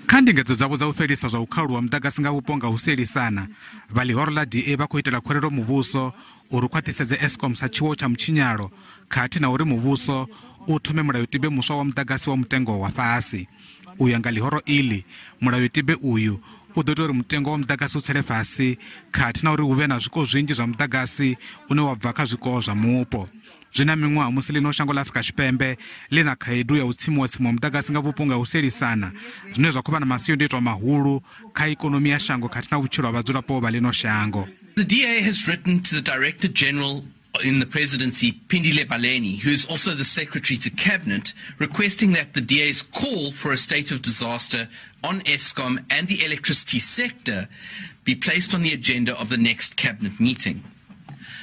Kha ndingedzo dzavho dza u fhelisa zwa u khauluwa muḓagasi nga vhupo nga u sielisana, vha ḽihoro ḽa DA vha khou itela khuwelelo muvhuso uri u khwaṱhisedze Eskom sa tshiwo tsha mutshinyalo khathihi na uri muvhuso u thome mulayotibe muswa wa muḓagasi wa mutengo wa fhasi. U ya nga ḽihoro iḽi, mulayotibe uyu u ḓo ita uri mutengo wa muḓagasi u tsele fhasi khathihi na uri hu vhe na zwiko zwinzhi zwa muḓagasi une wa bva kha zwiko zwa mupo. Zwi na miṅwaha musi ḽino shango ḽa Afrika Tshipembe ḽi na khaedu ya u tsimiwa tsimiwa muḓagasi nga vhupo nga u sielisana, zwine zwa khou vha na masiandoitwa mahulu kha ikonomi ya shango khathihi na vhutshilo ha vhadzulapo vha ḽino shango. The DA has written to the Director General in the presidency, Phindile Baleni, who is also the Secretary to Cabinet, requesting that the DA's call for a state of disaster on Eskom and the electricity sector be placed on the agenda of the next Cabinet meeting.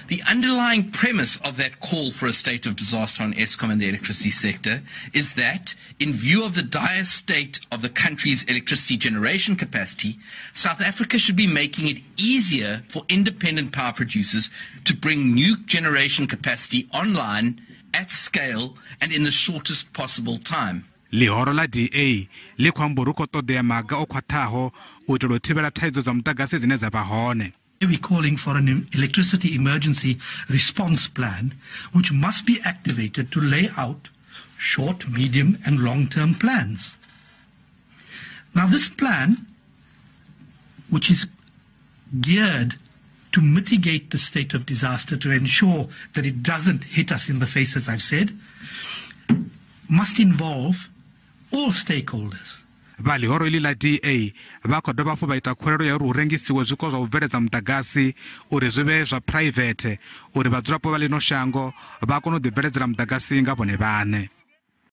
The underlying premise of that call for a state of disaster on Eskom and the electricity sector is that, in view of the dire state of the country's electricity generation capacity, South Africa should be making it easier for independent power producers to bring new generation capacity online at scale and in the shortest possible time. Ḽihoro ḽa DA ḽi khou amba uri hu khou ṱoḓea maga o khwaṱhaho u itela u thivhela thaidzo dza muḓagasi dzine dza vha hone. We're calling for an electricity emergency response plan, which must be activated to lay out short, medium, and long-term plans. Now, this plan, which is geared to mitigate the state of disaster, to ensure that it doesn't hit us in the face, as I've said, must involve all stakeholders. Vha ḽihoro iḽi ḽa DA vha khou dovha hafhu vha ita khuwelelo ya uri hu rengisiwe zwiko zwa u bveledza muḓagasi uri zwi vhe zwa phuraivethe uri vhadzulapo vha ḽino shango vha kone u ḓibveledzela muḓagasi nga vhone vhaṋe.